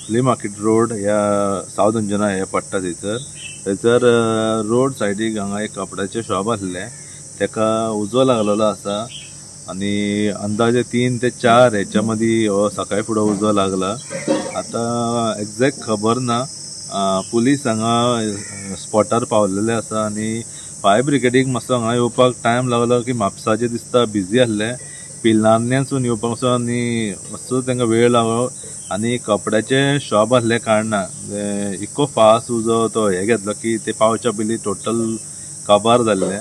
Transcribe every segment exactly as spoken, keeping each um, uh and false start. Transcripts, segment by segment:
Flea market road ह्या south Anjuna हे पडटा थंयसर. थंयसर रोड सायडीक हांगा एक कपड्याचें शॉप आसलें, तेका उजो लागलेलो आसा आनी अंदाजे तीन ते चार हेच्या मदीं हो सकाळी फुडें उजो लागला. आतां एग्जॅक्ट खबर ना. पुलीस हांगा स्पॉटार पावलेले आसा आनी फायर ब्रिगेडीक मातसो हांगा येवपाक टायम लागलो की म्हापसाचे दिसता बिजी आसले, पिलान्यासून येवपाक मातसो आनी मातसो तांकां वेळ लागलो. आनी कपड्याचें शॉप आसले कारणान इतको फास्ट उजो तो हे घेतलो की ते पावच्या पयलीं टोटल काबार जाल्ले.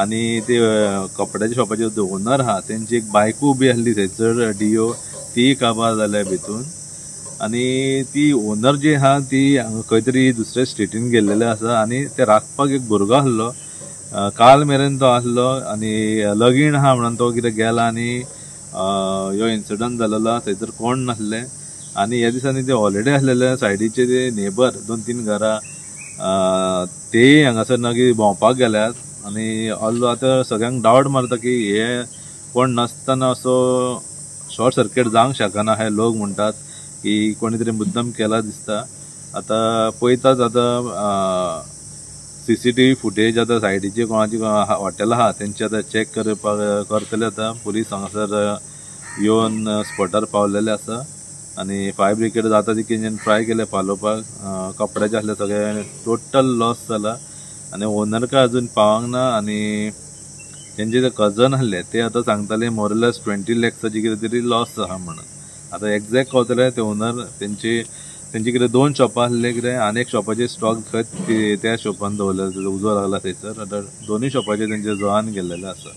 आनी ते कपड्याच्या शॉपाचे ओनर आहा तेंची एक बायकूय उबी आसली थंयसर डिओ, तीय काबार जाल्या भितून. आनी ती ओनर जी आहा ती खंय तरी दुसऱ्या स्टेटीन गेल्लेले आसा आनी ते राखपाक एक भुरगो आसलो, काल मेरेन तो आसलो आनी लगीन आहा म्हणून तो कितें गेला आनी ह्यो इन्सिडंट जालेलो. थंयसर कोण नासले आनी ह्या दिसांनी ते हॉलिडे आसलेले. सायडीचे ते नेबर दोन तीन घरां तेय हांगासर मागीर भोंवपाक गेल्यात आनी ऑल आतां सगळ्यांक डावट मारता की हे कोण नासतना असो शॉर्ट सर्किट जावंक शकना. हे लोक म्हणटात की कोणी तरी मुद्दम केला दिसता. आतां पळयतात आतां C C T V footage आतां सायडीचे कोणाची हॉटेल आहा तेंचे आतां चॅक करपाक करतले. आतां पुलीस हांगासर येवन स्पॉटार पावलेले आसा आनी फायर ब्रिगेड जाता तितकें ट्राय केलें पालोवपाक. कपड्याचे आसले सगळे टोटल लॉस जाला आनी ओनर काय अजून पावंक ना. आनी तेंचे जे कजन आसले ते आतां सांगताले मोरलेस ट्वेंटी लॅक्साची कितें तरी लॉस आहा म्हणून. आतां एग्जॅक्ट कळटलें ते ओनर तेंची तेंचे कितें दोन शॉपां आसले कितें आनी एक शॉपाचे स्टॉक खंय त्या शॉपान दवरलेले, उजो लागला थंयसर. आतां दोनूय शॉपाचे तेंचे जळान गेल्लेले आसा.